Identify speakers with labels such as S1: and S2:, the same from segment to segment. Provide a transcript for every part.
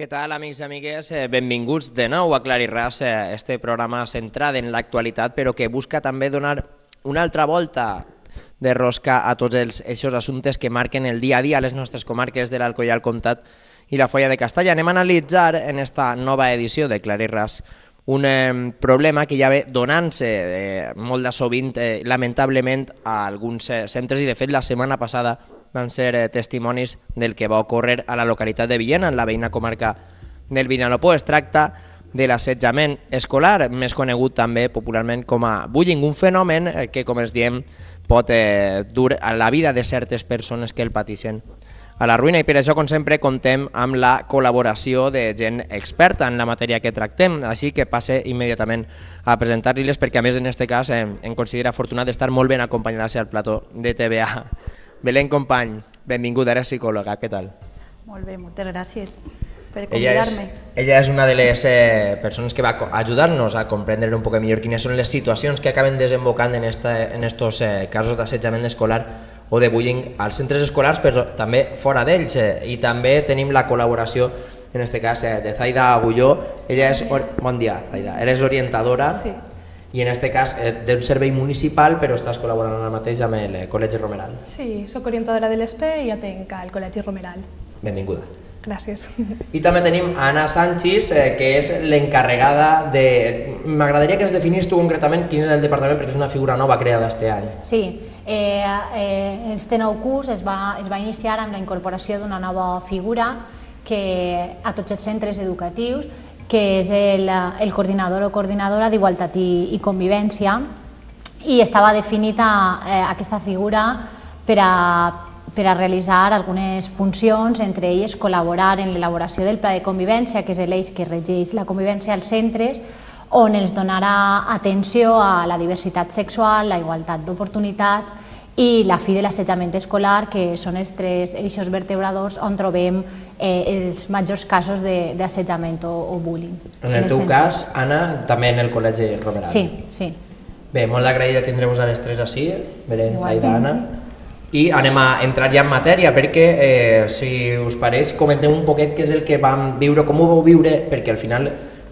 S1: tal, amics i amigues? Benvinguts de nou a Clar i Ras, este programa centrat en l'actualitat, però que busca també donar una altra volta de rosca a tots aquests assumptes que marquen el dia a dia a les nostres comarques de l'Alcoià, el Comtat i la Foia de Castalla. Anem a analitzar en esta nova edició de Clar i Ras un problema que ja ve donant-se molt de sovint, lamentablement, a alguns centres, i de fet la setmana passada van ser testimonis del que va ocórrer a la localitat de Villena, en la veïna comarca del Vinalopó. Es tracta de l'assetjament escolar, més conegut també popularment com a bullying, un fenomen que, com es diem, pot dur a la vida de certes persones que el pateixen a la ruïna, i per això, com sempre, contem amb la col·laboració de gent experta en la matèria que tractem, així que passe immediatament a presentar-les, perquè a més en aquest cas em considero afortunat d'estar molt ben acompanyada al plató de TVA. Belén Company, benvinguda, eres psicòloga, què tal?
S2: Molt bé, moltes gràcies per convidar-me.
S1: Ella és una de les persones que va ajudar-nos a comprendre un poc millor quines són les situacions que acaben desembocant en estos casos d'assetjament escolar o de bullying als centres escolars, però també fora d'ells. I també tenim la col·laboració, en aquest cas, de Zaida Agulló. Ella és... Bon dia, Zaida. Eres orientadora. Sí. I en aquest cas d'un servei municipal, però estàs col·laborant ara mateix amb el Col·legi Romeral.
S3: Sí, soc orientadora de l'ESPE i atenc al Col·legi Romeral.
S1: Benvinguda.
S3: Gràcies.
S1: I també tenim Anna Sánchez, que és l'encarregada de... M'agradaria que ens definis tu concretament quin és el departament, perquè és una figura nova creada este any.
S2: Sí, este nou curs es va iniciar amb la incorporació d'una nova figura a tots els centres educatius, que és el coordinador o coordinadora d'Igualtat i Convivència, i estava definida aquesta figura per a realitzar algunes funcions, entre elles col·laborar en l'elaboració del Pla de Convivència, que és l'eix que regeix la convivència als centres, on els donarà atenció a la diversitat sexual, la igualtat d'oportunitats i la fi de l'assetjament escolar, que són els tres eixos vertebradors on trobem els majors casos d'assetjament o bullying.
S1: En el teu cas, Anna, també en el Col·legi Romeral.
S2: Sí, sí.
S1: Bé, molt agraïda tindre-vos a les tres així, Belén, Zaida, Anna. I anem a entrar ja en matèria, perquè, si us pareix, comenteu un poquet què és el que vam viure, com ho vau viure, perquè al final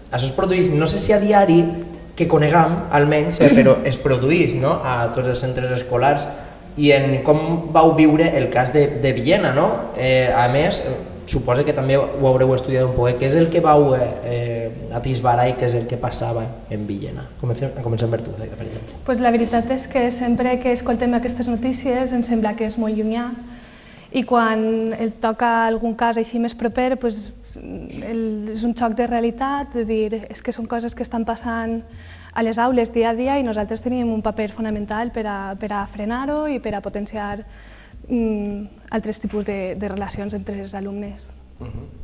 S1: això es produeix, no sé si a diari, que conegam, almenys, però es produeix a tots els centres escolars, i en com vau viure el cas de Villena, no? A més, suposo que també ho haureu estudiat un poc, què és el que vau atisbarar i què és el que passava en Villena? Comencem per tu, per exemple.
S3: La veritat és que sempre que escoltem aquestes notícies ens sembla que és molt llunyà, i quan et toca algun cas així més proper és un xoc de realitat, de dir és que són coses que estan passant a les aules dia a dia i nosaltres tenim un paper fonamental per a frenar-ho i per a potenciar altres tipus de relacions entre els alumnes.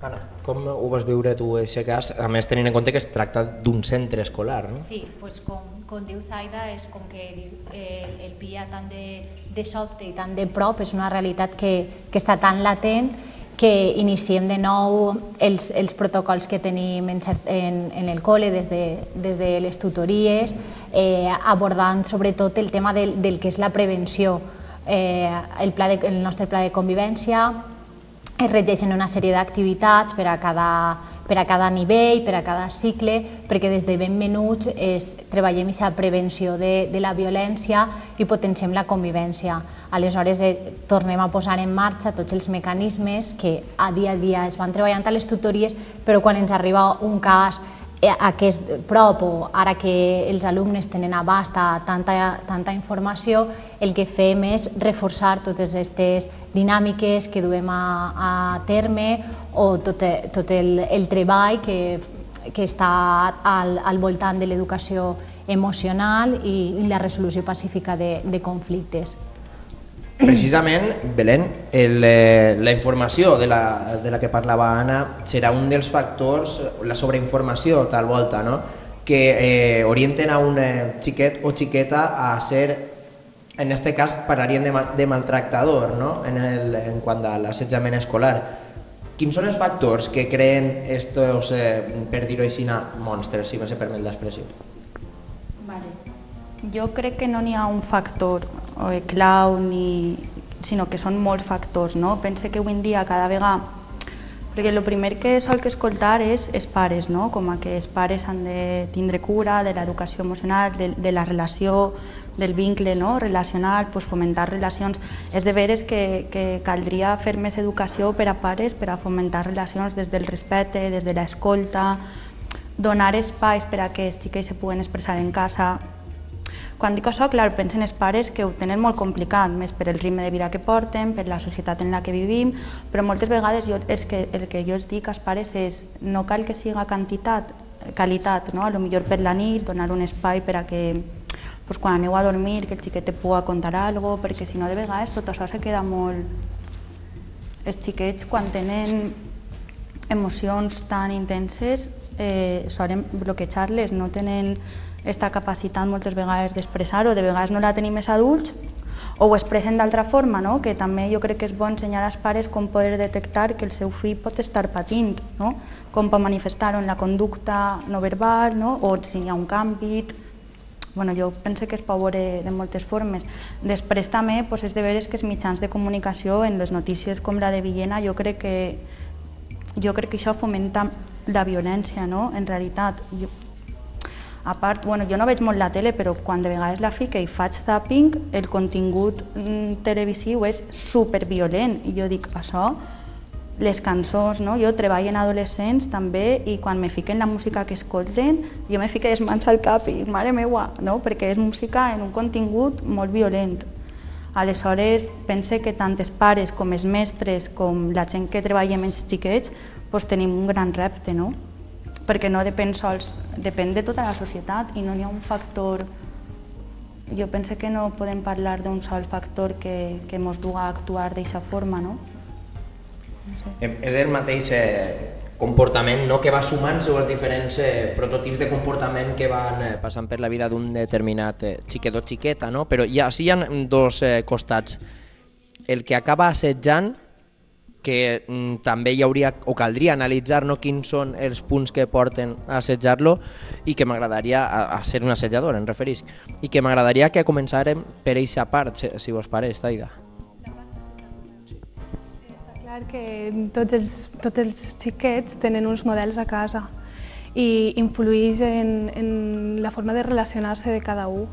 S1: Anna, com ho vas viure tu, aquest cas, a més tenint en compte que es tracta d'un centre escolar, no?
S2: Sí, com diu Zaida, és com que el pilla tant de sobte i tant de prop, és una realitat que està tan latent que iniciem de nou els protocols que tenim en el col·le des de les tutories, abordant sobretot el tema del que és la prevenció. El nostre pla de convivència es regeixen una sèrie d'activitats per a cada nivell, per a cada cicle, perquè des de ben menuts treballem aquesta prevenció de la violència i potenciem la convivència. Aleshores tornem a posar en marxa tots els mecanismes que a dia es van treballant a les tutories, però quan ens arriba un cas aquest prop o ara que els alumnes tenen abast a tanta informació, el que fem és reforçar totes aquestes dinàmiques que duem a terme o tot el treball que està al voltant de l'educació emocional i la resolució pacífica de conflictes.
S1: Precisament, Belén, la informació de la que parlava Anna serà un dels factors, la sobreinformació tal volta, que orienten a un xiquet o xiqueta a ser, en aquest cas parlaríem de maltractador, en quant a l'assetjament escolar. Quins són els factors que creen estos, per dir-ho així, monstres, si me permet l'expressió?
S4: Jo crec que no n'hi ha un factor clau, sinó que són molts factors. Pense que avui en dia cada vegada Perquè el primer que sol que escoltar és els pares, no? Com que els pares han de tindre cura de l'educació emocional, de la relació, del vincle, no? Relacional, pues fomentar relacions. És de veres que caldria fer més educació per a pares per a fomentar relacions des del respecte, des de l'escolta, donar espais per a que els xiquets se puguen expressar en casa. Quan dic això, clar, penso en els pares que ho tenen molt complicat, més per el ritme de vida que porten, per la societat en la que vivim, però moltes vegades el que jo els dic als pares és no cal que siga qualitat, no? A lo millor per la nit, donar un espai per a que quan aneu a dormir que el xiquet te pugui contar alguna cosa, perquè si no de vegades tot això se queda molt... Els xiquets quan tenen emocions tan intenses solen bloquejar-les, no tenen aquesta capacitat moltes vegades d'expressar-ho, de vegades no la tenim els adults o ho expressen d'altra forma, no? Que també jo crec que és bo ensenyar als pares com poder detectar que el seu fill pot estar patint, no? Com pot manifestar-ho en la conducta no verbal, no? O si hi ha un canvi. Jo penso que es pot veure de moltes formes. Després també és de veres que els mitjans de comunicació en les notícies com la de Villena jo crec que això fomenta la violència, no? En realitat. A part, jo no veig molt la tele, però quan de vegades la fico i faig zapping, el contingut televisiu és superviolent. I jo dic, això, les cançons, no? Jo treballo en adolescents també i quan me fiquen la música que escolten, jo me fico les mans al cap i dic, mare meua, no? Perquè és música en un contingut molt violent. Aleshores, pense que tant els pares com els mestres, com la gent que treballa amb els xiquets, tenim un gran repte, no? Perquè no depèn sols, depèn de tota la societat i no hi ha un factor... Jo penso que no podem parlar d'un sol factor que ens du a actuar d'aquesta forma, no?
S1: És el mateix comportament que va sumant-se els diferents prototips de comportament que van passant per la vida d'un determinat xiquet o xiqueta, no? Però sí hi ha dos costats. El que acaba assetjant, que també hi hauria o caldria analitzar quins són els punts que porten a assetjar-lo i que m'agradaria, a ser un assetjador em referís, i que m'agradaria que començarem per aquesta part, si vos pareix, Taida.
S3: Està clar que tots els xiquets tenen uns models a casa i influeix en la forma de relacionar-se de cada un.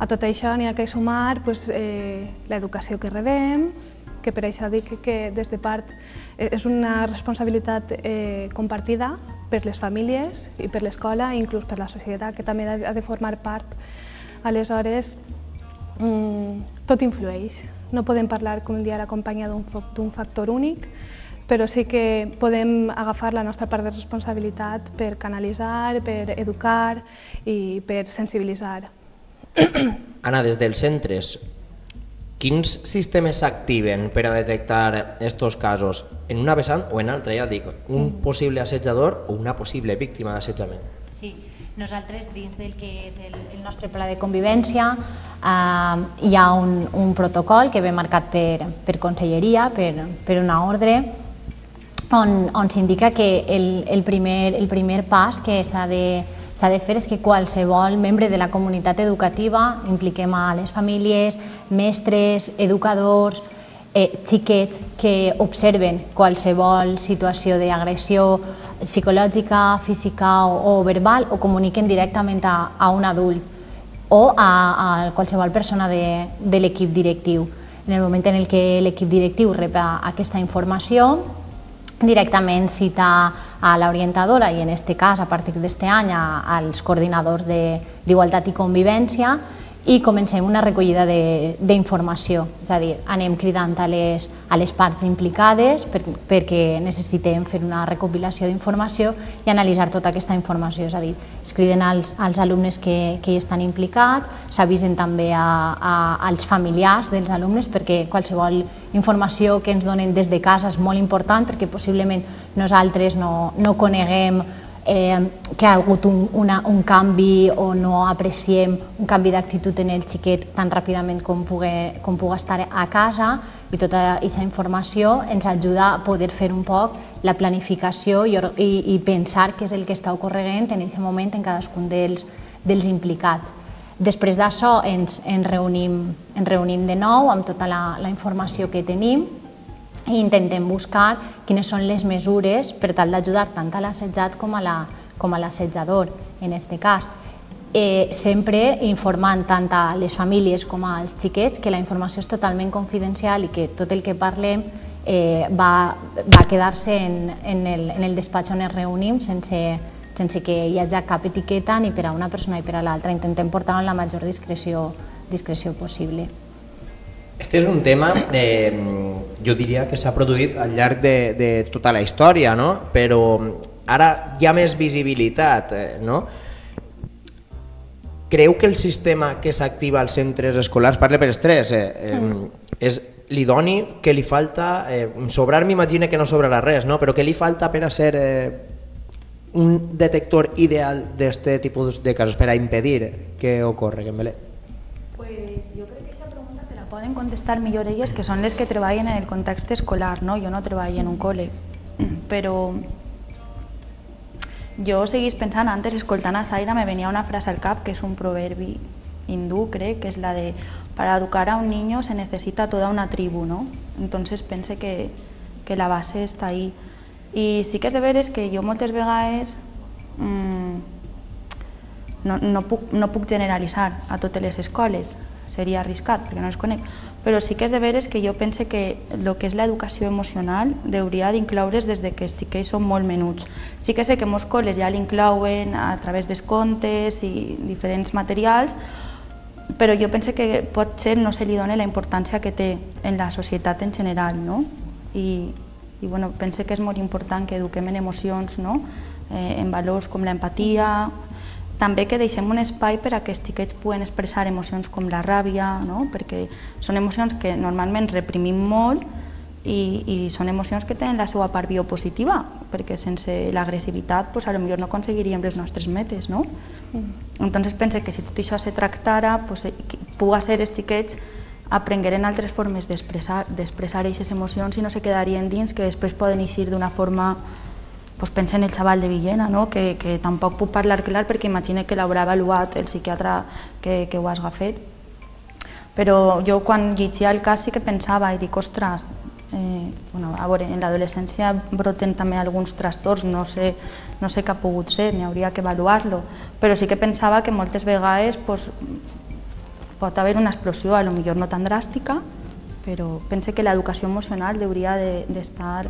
S3: A tot això n'hi ha que sumar l'educació que rebem, que per això dic que des de part és una responsabilitat compartida per les famílies i per l'escola i inclús per la societat, que també ha de formar part. Aleshores, tot influeix. No podem parlar, com dia, la companya d'un factor únic, però sí que podem agafar la nostra part de responsabilitat per canalitzar, per educar i per sensibilitzar.
S1: Anna, des dels centres, quins sistemes s'activen per a detectar aquests casos? En una vessant o en altra, ja dic, un possible assetjador o una possible víctima d'assetjament?
S2: Sí, nosaltres dins del que és el nostre pla de convivència hi ha un protocol que ve marcat per conselleria, per una ordre, on s'indica que el primer pas que s'ha de fer és que qualsevol membre de la comunitat educativa, impliquem a les famílies, mestres, educadors, xiquets que observen qualsevol situació d'agressió psicològica, física o verbal o comuniquen directament a un adult o a qualsevol persona de l'equip directiu. En el moment en què l'equip directiu rep aquesta informació, directament cita a l'orientadora i en aquest cas, a partir d'aquest any, als coordinadors d'Igualtat i Convivència i comencem una recollida d'informació, és a dir, anem cridant a les parts implicades perquè necessitem fer una recopilació d'informació i analitzar tota aquesta informació, és a dir, es criden als alumnes que hi estan implicats, s'avisen també als familiars dels alumnes perquè qualsevol informació que ens donen des de casa és molt important perquè possiblement nosaltres no coneguem que ha hagut un canvi o no apreciem un canvi d'actitud en el xiquet tan ràpidament com pugui estar a casa i tota aquesta informació ens ajuda a poder fer un poc la planificació i pensar què és el que està ocorrent en aquest moment en cadascun dels implicats. Després d'això ens reunim de nou amb tota la informació que tenim i intentem buscar quines són les mesures per tal d'ajudar tant a l'assetjat com a l'assetjador, en aquest cas. Sempre informant tant a les famílies com als xiquets que la informació és totalment confidencial i que tot el que parlem va quedar-se en el despatx on ens reunim sense que hi hagi cap etiqueta ni per a una persona ni per a l'altra. Intentem portar-ho amb la major discreció possible.
S1: Este és un tema, jo diria que s'ha produït al llarg de tota la història, però ara hi ha més visibilitat. Creu que el sistema que s'activa als centres escolars, parle per els tres, és l'idoni, que li falta, sobrar m'imagina que no sobrarà res, però què li falta per a ser un detector ideal d'aquest tipus de casos, per a impedir que ocorre, que en Belén?
S4: Jo crec que aquesta pregunta te la poden contestar millor elles, que són les que treballen en el context escolar, jo no treballo en un col·le, però jo seguís pensant, antes escoltant a Zaida me venia una frase al cap que és un proverbi hindú, crec, que és la de para educar a un niño se necesita toda una tribu, ¿no? Entonces pense que la base està ahí. I sí que és de veres que jo moltes vegades no puc generalitzar a totes les escoles, seria arriscat perquè no les conec, però sí que és de veres que jo pense que el que és l'educació emocional hauria d'incloure's des que els xiquets són molt menuts. Sí que sé que molts col·les ja l'inclouen a través dels contes i diferents materials, però jo pense que potser no se li dona la importància que té en la societat en general, i pense que és molt important que eduquem en emocions, en valors com l'empatia, també que deixem un espai per a que els xiquets puguen expressar emocions com la ràbia, perquè són emocions que normalment reprimim molt i són emocions que tenen la seva part biopositiva, perquè sense l'agressivitat potser no aconseguiríem les nostres metes. Entonces pense que si tot això se tractara, pugui ser els xiquets aprengueren altres formes d'expressar aquestes emocions i no se quedarien dins, que després poden eixir d'una forma. Pensa en el xaval de Villena, que tampoc puc parlar clar perquè imagina que l'haurà avaluat el psiquiatre que ho has agafat. Però jo quan llegia el cas sí que pensava i dic, ostres, a veure, en l'adolescència broten també alguns trastorns, no sé què ha pogut ser, n'hi hauria que avaluar-lo, però sí que pensava que moltes vegades pot haver una explosió, potser no tan dràstica, però pense que l'educació emocional hauria d'estar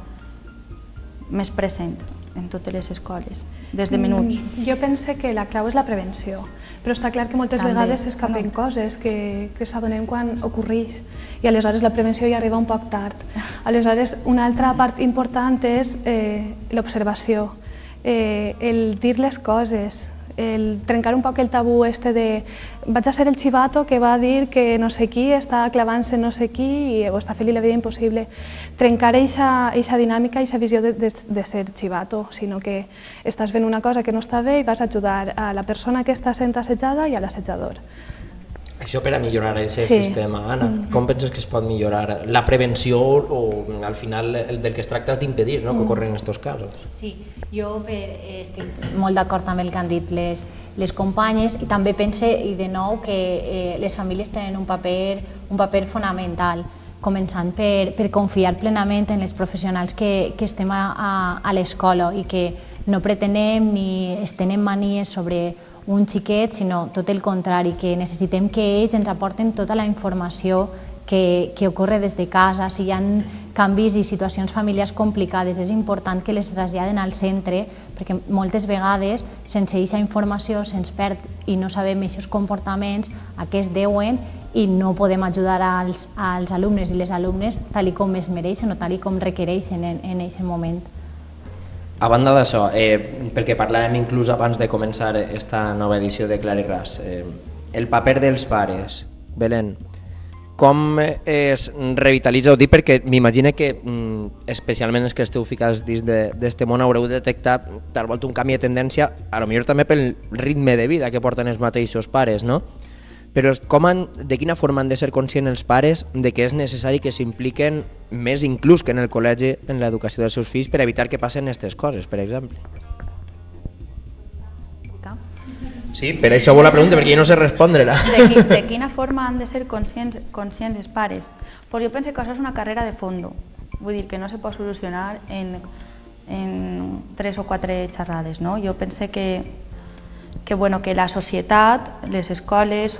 S4: més present en totes les escoles, des de menuts.
S3: Jo pense que la clau és la prevenció, però està clar que moltes vegades s'escapen coses que s'adonem quan ocorreix i aleshores la prevenció ja arriba un poc tard. Aleshores, una altra part important és l'observació, el dir les coses, el trencar un poc el tabú de vaig a ser el xivato que va dir que no sé qui està clavant-se no sé qui o està fent-li la vida impossible. Trencar aquesta dinàmica, aquesta visió de ser xivato, sinó que estàs fent una cosa que no està bé i vas a ajudar a la persona que està sent assetjada i a l'assetjador.
S1: Això per a millorar aquest sistema, Anna, com penses que es pot millorar? La prevenció o al final del que es tracta és d'impedir que ocorren aquests casos?
S2: Sí, jo estic molt d'acord amb el que han dit les companyes i també pense, i de nou, que les famílies tenen un paper fonamental, començant per confiar plenament en els professionals que estem a l'escola i que no pretenem ni estenem manies sobre un xiquet, sinó tot el contrari, que necessitem que ells ens aporten tota la informació que ocorre des de casa. Si hi ha canvis i situacions familiars complicades, és important que les traslladen al centre, perquè moltes vegades, sense aquesta informació, se'ns perd i no sabem aquests comportaments a què es deuen i no podem ajudar als alumnes i les alumnes tal com es mereixen o tal com requereixen en aquest moment.
S1: A banda d'això, perquè parlàvem inclús abans de començar aquesta nova edició de Clar i Ras, el paper dels pares, Belén, com es revitalitza? Ho dic perquè m'imagino que, especialment els que esteu ficats dins d'aquest món, haureu detectat tal volta un canvi de tendència, potser també pel ritme de vida que porten els mateixos pares, no? Però de quina forma han de ser conscients els pares de que és necessari que s'impliquen més inclús que en el col·legi en l'educació dels seus fills per evitar que passen aquestes coses, per exemple? Sí, per això vol la pregunta, perquè jo no sé respondre-la.
S4: De quina forma han de ser conscients els pares? Pues jo penso que això és una carrera de fondo. vull dir que no se pot solucionar en 3 o 4 xerrades, no? Jo pense que la societat, les escoles,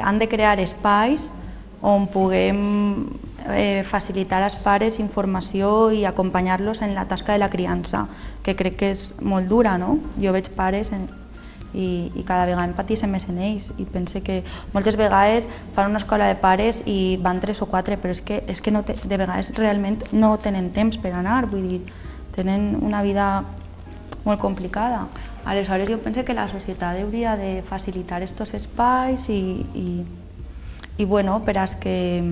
S4: han de crear espais on puguem facilitar als pares informació i acompanyar-los en la tasca de la criança, que crec que és molt dura, no? Jo veig pares i cada vegada empatissem més en ells i pense que moltes vegades fan una escola de pares i van 3 o 4, però és que de vegades realment no tenen temps per anar, vull dir, tenen una vida molt complicada. Aleshores jo penso que la societat hauria de facilitar aquests espais i bueno, per als que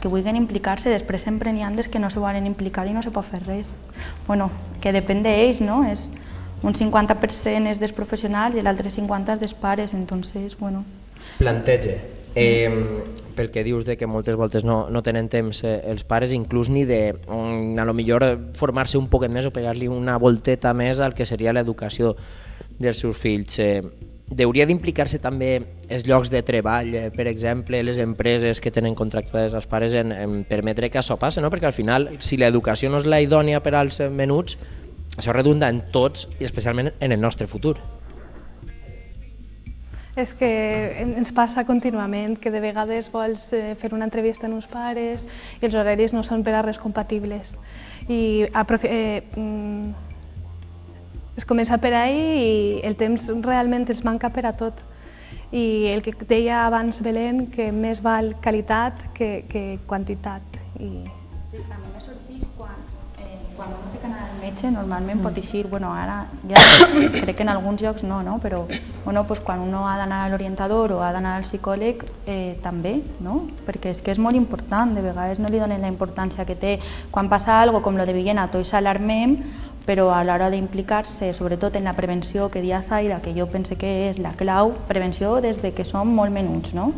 S4: vulguin implicar-se, després sempre n'hi ha des que no se volen implicar i no se pot fer res. Bueno, que depèn d'ells, no? Un 50% és dels professionals i l'altre 50% és dels pares, entonces, bueno.
S1: Planteja, pel que dius de que moltes voltes no tenen temps els pares, inclús ni de, a lo millor, formar-se un poquet més o pegar-li una volteta més al que seria l'educació dels seus fills. Hauria d'implicar-se també els llocs de treball, per exemple, les empreses que tenen contractades els pares en permetre que això passi, no? Perquè al final, si l'educació no és la idònia per als menuts, això redunda en tots i especialment en el nostre futur.
S3: És que ens passa contínuament que de vegades vols fer una entrevista amb uns pares i els horaris no són per a res compatibles. I es comença per ahí i el temps realment ens manca per a tot. I el que deia abans Belén, que més val qualitat que quantitat.
S4: Sí, a mi me sorgeix quan uno té que anar al metge, normalment pot eixir, bueno, ara ja crec que en alguns llocs no, però bueno, pues quan uno ha d'anar a l'orientador o ha d'anar al psicòleg també, no? Perquè és que és molt important, de vegades no li donen la importància que té. Quan passa alguna cosa com lo de Villena, tots s'alarmem, però a l'hora d'implicar-se, sobretot en la prevenció que dia Zaida, que jo pense que és la clau, prevenció des de que som molt menuts, no?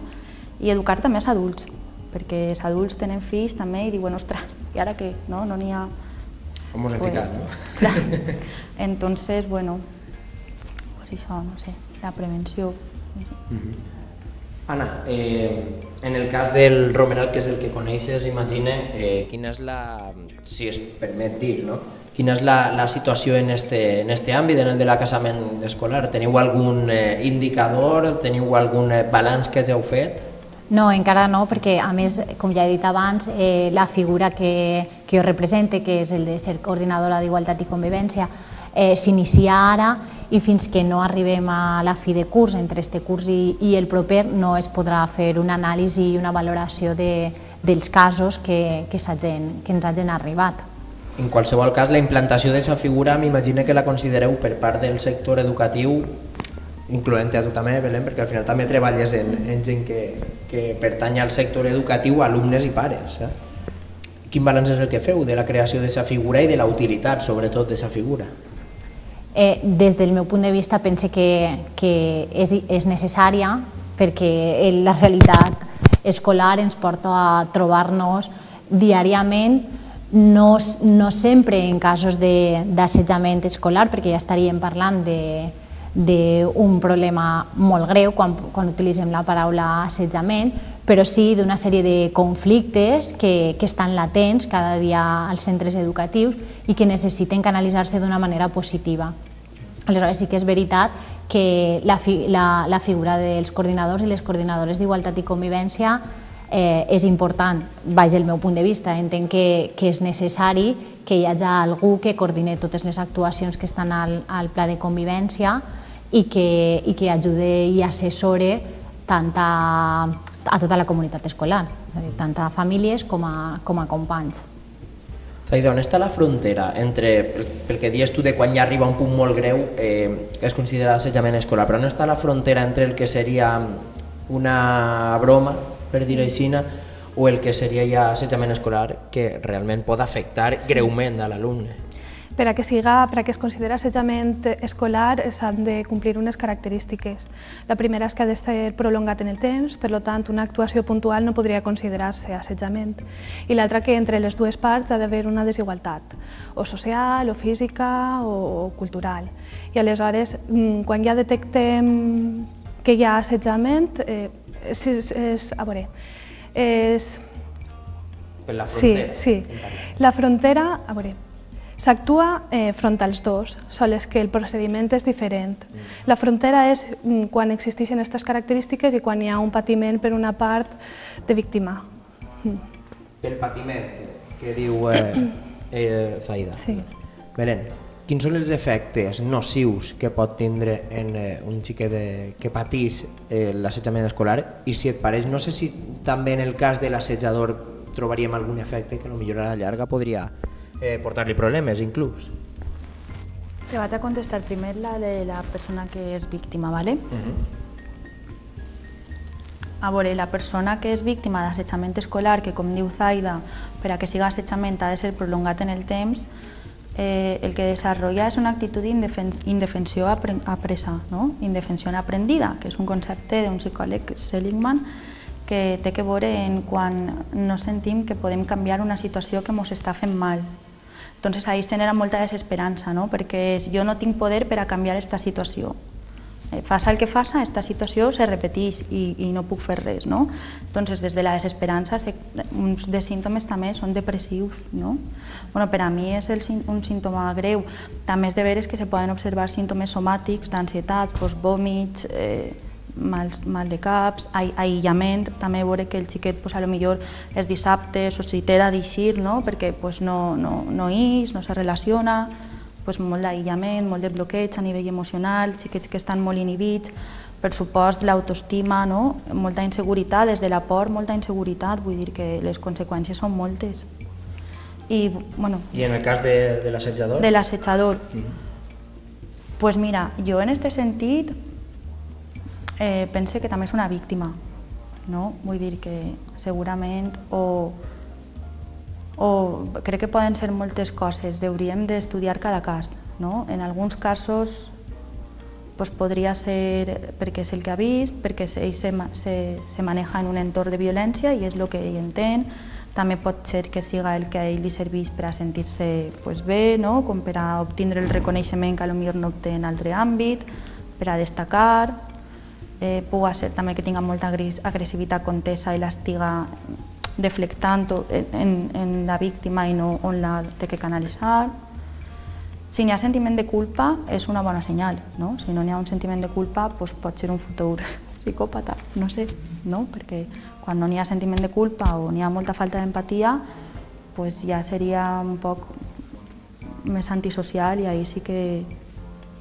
S4: I educar també els adults, perquè els adults tenen fills també i diuen, ostres, i ara què? No n'hi ha...
S1: Com us hem ficat, no?
S4: Clar. Entonces, bueno, pues això, no sé, la prevenció.
S1: Anna, en el cas del Romeral, que és el que coneixes, imagina, quina és la, si es permet dir, no? Quina és la situació en este àmbit, en el de l'acasament escolar? Teniu algun indicador, teniu algun balanç que heu fet?
S2: No, encara no, perquè a més, com ja he dit abans, la figura que jo represente, que és el de ser coordinadora d'Igualtat i Convivència, s'inicia ara i fins que no arribem a la fi de curs, entre este curs i el proper, no es podrà fer una anàlisi i una valoració dels casos que ens hagin arribat.
S1: En qualsevol cas, la implantació d'aquesta figura m'imagino que la considereu per part del sector educatiu, incloent-te a tu també, Belén, perquè al final també treballes en gent que pertany al sector educatiu, alumnes i pares. Quin balanç és el que feu de la creació d'aquesta figura i de la utilitat, sobretot, d'aquesta figura?
S2: Des del meu punt de vista, pense que és necessària perquè la realitat escolar ens porta a trobar-nos diàriament, no sempre en casos d'assetjament escolar, perquè ja estaríem parlant d'un problema molt greu quan utilitzem la paraula assetjament, però sí d'una sèrie de conflictes que estan latents cada dia als centres educatius i que necessiten canalitzar-se d'una manera positiva. Aleshores sí que és veritat que la figura dels coordinadors i les coordinadores d'Igualtat i Convivència és important, baix el meu punt de vista. Entenc que és necessari que hi hagi algú que coordine totes les actuacions que estan al pla de convivència i que ajude i assessore tant a tota la comunitat escolar, tant a famílies com a companys.
S1: Zaida, on està la frontera entre, pel que dius tu de quan ja arriba un punt molt greu, es considera assetjament escolar, però on està la frontera entre el que seria una broma, per dir-ho així, o el que seria ja assetjament escolar que realment pot afectar greument a l'alumne?
S3: Per a que es consideri assetjament escolar s'han de complir unes característiques. La primera és que ha de ser prolongat en el temps, per tant una actuació puntual no podria considerar-se assetjament. I l'altra que entre les dues parts ha d'haver una desigualtat, o social, o física, o cultural. I aleshores, quan ja detectem que hi ha assetjament,
S1: Per la frontera?
S3: Sí. La frontera, a veure, s'actua front als dos, sols que el procediment és diferent. La frontera és quan existeixen aquestes característiques i quan hi ha un patiment per una part de víctima.
S1: Pel patiment, que diu Zaida.
S3: Sí.
S1: Belén, quins són els efectes nocius que pot tindre en un xiquet que pateix l'assetjament escolar? I si et pareix, no sé si també en el cas de l'assetjador trobaríem algun efecte que potser a la llarga podria portar-li problemes, inclús.
S4: Te vaig a contestar primer la de la persona que és víctima, ¿vale? A veure, la persona que és víctima d'assetjament escolar, que com diu Zaida, per a que siga assetjament ha de ser prolongat en el temps, el que desenvolupa és una actitud d'indefensió apresa, no? Indefensió aprendida, que és un concepte d'un psicòleg Seligman que té que veure en quan no sentim que podem canviar una situació que ens està fent mal. Entonces ahí genera molta desesperança, no? Perquè jo no tinc poder per a canviar aquesta situació. Faça el que faça, aquesta situació se repeteix i no puc fer res, no? Entonces, des de la desesperança, uns dels símptomes també són depressius, no? Bueno, per a mi és un símptoma greu. També és de veres que se poden observar símptomes somàtics d'ansietat, vòmits, mal de caps, aïllament, també veure que el xiquet potser els dissabtes o si té d'eixir, no? Perquè no ix, no se relaciona, molt d'aïllament, molt de bloqueig a nivell emocional, xiquets que estan molt inhibits, per supost l'autoestima, molta inseguretat, des de la por, molta inseguretat, vull dir que les conseqüències són moltes. I
S1: en el cas de l'assetjador?
S4: De l'assetjador. Doncs mira, jo en aquest sentit pense que també és una víctima, vull dir que segurament crec que poden ser moltes coses, hauríem d'estudiar cada cas. En alguns casos podria ser perquè és el que ha vist, perquè ell se maneja en un entorn de violència i és el que ell entén. També pot ser que siga el que a ell li serveix per a sentir-se bé, com per a obtindre el reconeixement que potser no obté en altre àmbit, per a destacar. Pugui ser també que tinga molta agressivitat contesa i l'estiga deflectant en la víctima i no on la té que canalitzar. Si n'hi ha sentiment de culpa, és una bona senyal. Si no n'hi ha un sentiment de culpa, pot ser un futur psicòpata, no sé, perquè quan no n'hi ha sentiment de culpa o n'hi ha molta falta d'empatia, ja seria un poc més antisocial i ahir sí que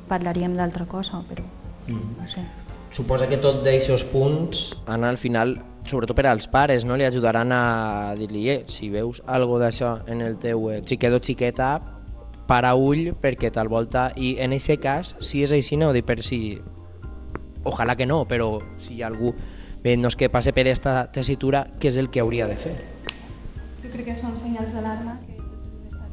S4: parlaríem d'altra cosa, però no sé.
S1: Suposa que tots d'aquests punts anar al final, sobretot per als pares, li ajudaran a dir-li si veus alguna d'això en el teu xiquet o xiqueta, para ull perquè tal volta, i en aquest cas, si és així, no ho dic per si, ojalà que no, però si hi ha algú que passe per aquesta tessitura, què és el que hauria de fer?
S3: Jo crec que són senyals d'alarma que tots hem d'estar un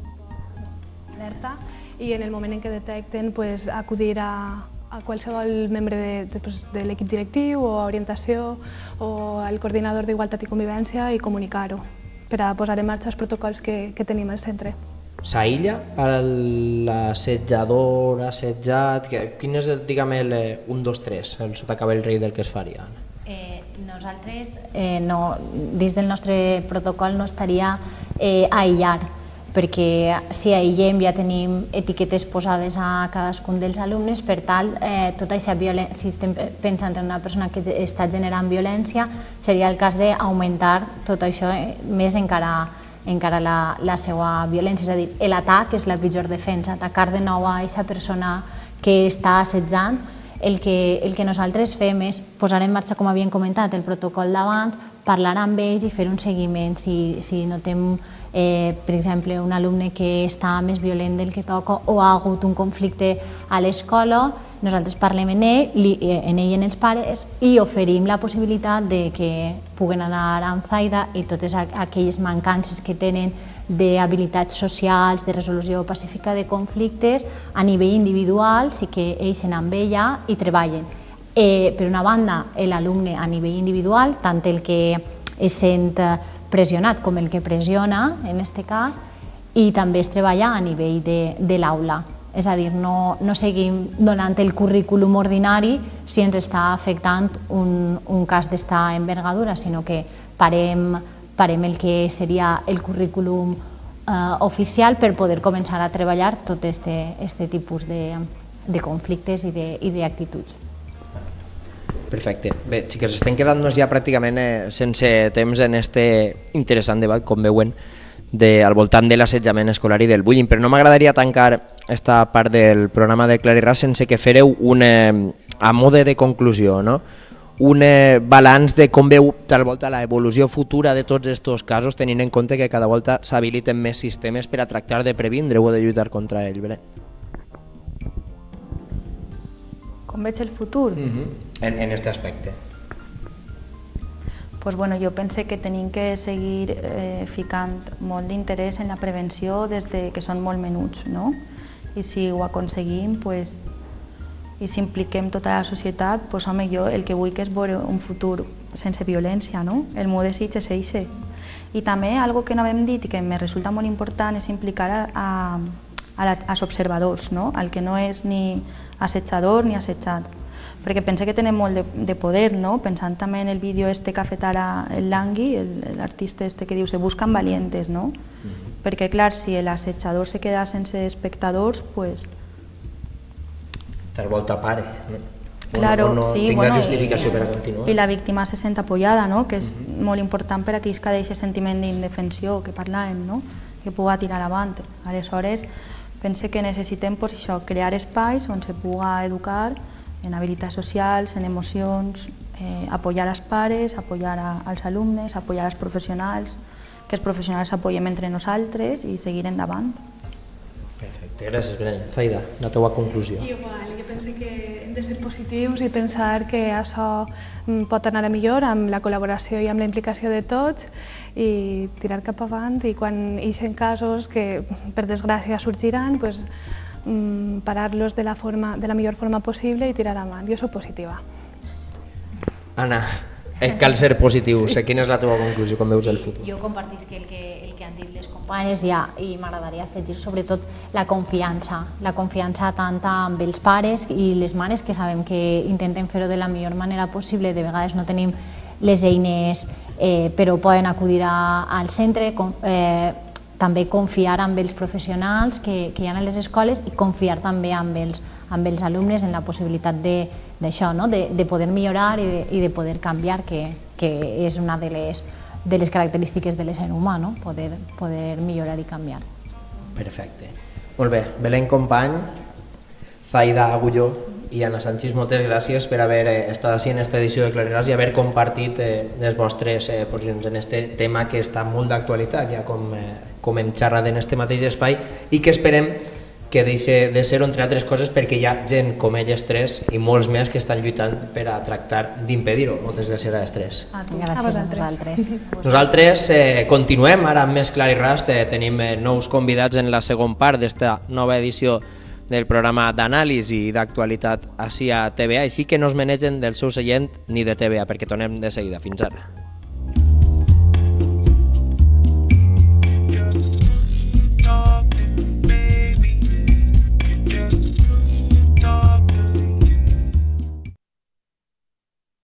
S3: poc alerta i en el moment en què detecten acudir a qualsevol membre de l'equip directiu o a orientació o al coordinador d'Igualtat i Convivència i comunicar-ho per a posar en marxa els protocols que tenim al centre.
S1: S'aïlla l'assetjador, assetjat? Quin és, diguem, el 1, 2, 3, el sota cabell rei del que es faria?
S2: Nosaltres, dins del nostre protocol no estaria aïllar, perquè si aïllem ja tenim etiquetes posades a cadascun dels alumnes, per tal, tota aquesta violència, si estem pensant en una persona que està generant violència, seria el cas d'augmentar tot això més encara la seva violència, és a dir, l'atac és la pitjor defensa, atacar de nou a aquesta persona que està assetjant. El que nosaltres fem és posar en marxa, com havíem comentat, el protocol d'abans, parlar amb ells i fer un seguiment. Si notem, per exemple, un alumne que està més violent del que toca o ha hagut un conflicte a l'escola, nosaltres parlem en ell i en els pares i oferim la possibilitat que puguen anar amb Zaida i totes aquelles mancances que tenen d'habilitats socials, de resolució pacífica de conflictes, a nivell individual, sí que ells se n'han ella i treballen. Per una banda, l'alumne a nivell individual, tant el que es sent pressionat com el que pressiona, en aquest cas, i també es treballa a nivell de l'aula. És a dir, no seguim donant el currículum ordinari si ens està afectant un cas d'esta envergadura, sinó que parem farem el que seria el currículum oficial per poder començar a treballar tot aquest tipus de conflictes i d'actituds.
S1: Perfecte. Bé, xiques, estem quedant-nos ja pràcticament sense temps en este interessant debat, com veuen, al voltant de l'assetjament escolar i del bullying, però no m'agradaria tancar esta part del programa de Clar i Ras sense que fareu a mode de conclusió, no? Un balanç de com veu tal volta l'evolució futura de tots aquests casos, tenint en compte que cada volta s'habiliten més sistemes per a tractar de previndre o de lluitar contra ells.
S4: Com veig el futur?
S1: En aquest aspecte.
S4: Pues bueno, jo pense que tenim que seguir ficant molt d'interès en la prevenció des que són molt menuts, no? I si ho aconseguim, pues, i si impliquem tota la societat, pues, home, jo el que vull que és veure un futur sense violència, no? El meu desig és eixe. I també, algo que no hem dit i que me resulta molt important és implicar als observadors, no? El que no és ni assetjador ni assetjat. Perquè pense que tenen molt de poder, no? Pensant també en el vídeo que ha fet ara el Langui, l'artista que diu se buscan valientes, no? Perquè, clar, si l'assetjador se queda sense espectadors, pues...
S1: Tal volta pare, no?
S4: Claro,
S1: no
S4: sí,
S1: tinga justificació per a continuar.
S4: I la víctima se sent apoyada, no? Que és molt important per a que isca d'aquest sentiment d'indefensió que parlàvem, no? Que puga tirar avant. Aleshores, pense que necessitem pues, això, crear espais on se puga educar en habilitats socials, en emocions, apoyar els pares, apoyar als alumnes, apoyar els professionals, que els professionals s'apoyem entre nosaltres i seguir endavant.
S1: Perfecte, gràcies, Belén. Zaida, la teua conclusió.
S3: Igual, jo penso que hem de ser positius i pensar que això pot anar a millor amb la col·laboració i amb la implicació de tots i tirar cap avant i quan hi ha casos que per desgràcia sorgiran, pues, parar-los de la millor forma possible i tirar avant. Jo soc positiva.
S1: Anna, cal ser positiu. Quina és la teva conclusió com veus el futur?
S2: Jo compartisc el que han dit les companyes ja i m'agradaria afegir sobretot la confiança tant amb els pares i les mares que sabem que intenten fer-ho de la millor manera possible, de vegades no tenim les eines però poden acudir al centre, també confiar amb els professionals que hi ha a les escoles i confiar també amb els alumnes en la possibilitat d'això, de poder millorar i de poder canviar, que és una de les característiques de l'ésser humà, poder millorar i canviar.
S1: Perfecte. Molt bé, Belén Company, Zaida Agulló i Anna Sanchis, moltes gràcies per haver estat així en aquesta edició de Clar i Ras i haver compartit les vostres posicions en aquest tema que està molt d'actualitat, ja com hem xerrat en aquest mateix espai i que esperem que deixi de ser, entre altres coses, perquè hi ha gent com elles tres i molts més que estan lluitant per a tractar d'impedir-ho. Moltes gràcies a les tres.
S2: Gràcies a vosaltres.
S1: Nosaltres continuem ara amb més Clar i Ras, tenim nous convidats en la segona part d'esta nova edició del programa d'anàlisi i d'actualitat així a TVA, així que no es menegen del seu seient ni de TVA, perquè tornem de seguida. Fins ara.